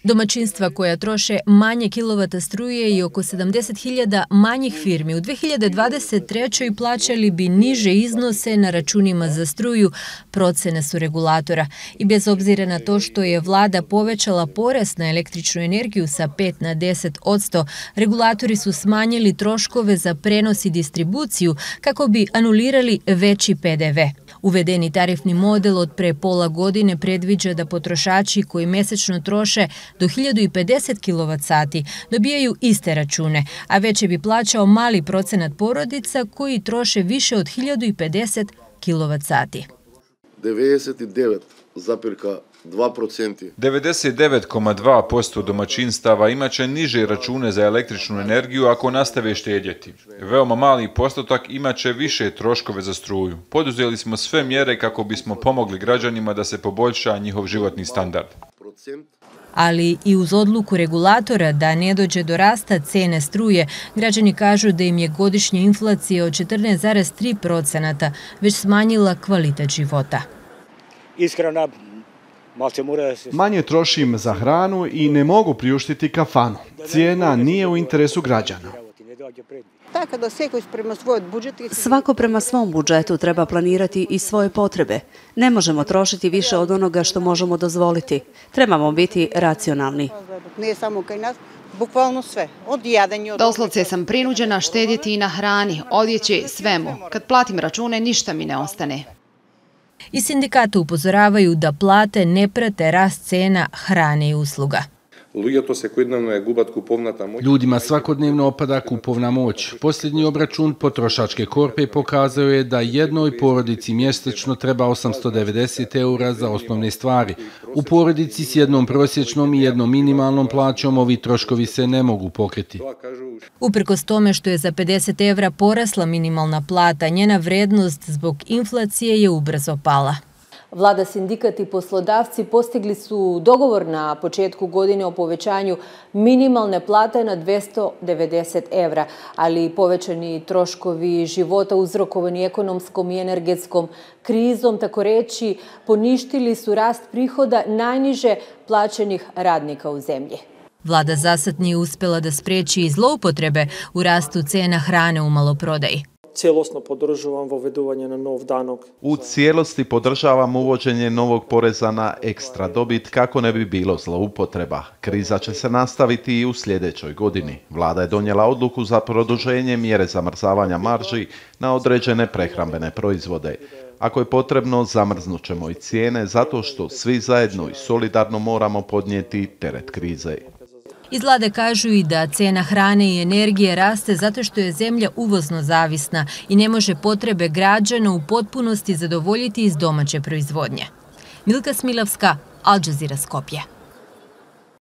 Domaćinstva koja troše manje kilovata struje i oko 70.000 manjih firmi u 2023. plaćali bi niže iznose na računima za struju, procene su regulatora. I bez obzira na to što je vlada povećala porez na električnu energiju sa 5 na 10%, regulatori su smanjili troškove za prenos i distribuciju kako bi anulirali veći PDV. Uvedeni tarifni model od pre pola godine predviđa da potrošači koji mesečno troše do 1050 kWh dobijaju iste račune, a veće bi plaćao mali procenat porodica koji troše više od 1050 kWh. 99,2% domaćinstava imaće niže račune za električnu energiju ako nastave štedjeti. Veoma mali postotak imaće više troškove za struju. Poduzeli smo sve mjere kako bismo pomogli građanima da se poboljša njihov životni standard. Ali i uz odluku regulatora da ne dođe do rasta cene struje, građani kažu da im je godišnja inflacija od 14,3% već smanjila kvalitet života. Iskreno, manje trošim za hranu i ne mogu priuštiti kafanu. Cijena nije u interesu građana. Svako prema svom budžetu treba planirati i svoje potrebe. Ne možemo trošiti više od onoga što možemo dozvoliti. Trebamo biti racionalni. Doslovce sam prinuđena štedjeti i na hrani, odjeći, svemu. Kad platim račune, ništa mi ne ostane. I sindikata upozoravaju da plate ne prate rast cena hrane i usluga. Ljudima svakodnevno opada kupovna moć. Posljednji obračun potrošačke korpe pokazao je da jednoj porodici mjesečno treba 890 eura za osnovne stvari. U porodici s jednom prosječnom i jednom minimalnom plaćom ovi troškovi se ne mogu pokriti. Uprkos tome što je za 50 evra porasla minimalna plata, njena vrednost zbog inflacije je ubrzo pala. Vlada, sindikat i poslodavci postigli su dogovor na početku godine o povećanju minimalne plate na 290 evra, ali povećani troškovi života uzrokovani ekonomskom i energetskom krizom, tako reći, poništili su rast prihoda najniže plaćenih radnika u zemlji. Vlada zasad nije uspjela da spriječi i zloupotrebe u rastu cena hrane u maloprodaji. U cijelosti podržavam uvođenje novog poreza na ekstra dobit kako ne bi bilo zloupotreba. Kriza će se nastaviti i u sljedećoj godini. Vlada je donijela odluku za produženje mjere zamrzavanja marži na određene prehrambene proizvode. Ako je potrebno, zamrznut ćemo i cijene zato što svi zajedno i solidarno moramo podnijeti teret krize. Iz vlade kažu i da cena hrane i energije raste zato što je zemlja uvozno zavisna i ne može potrebe građana u potpunosti zadovoljiti iz domaće proizvodnje. Milka Smilavska, Al Jazeera, Skopje.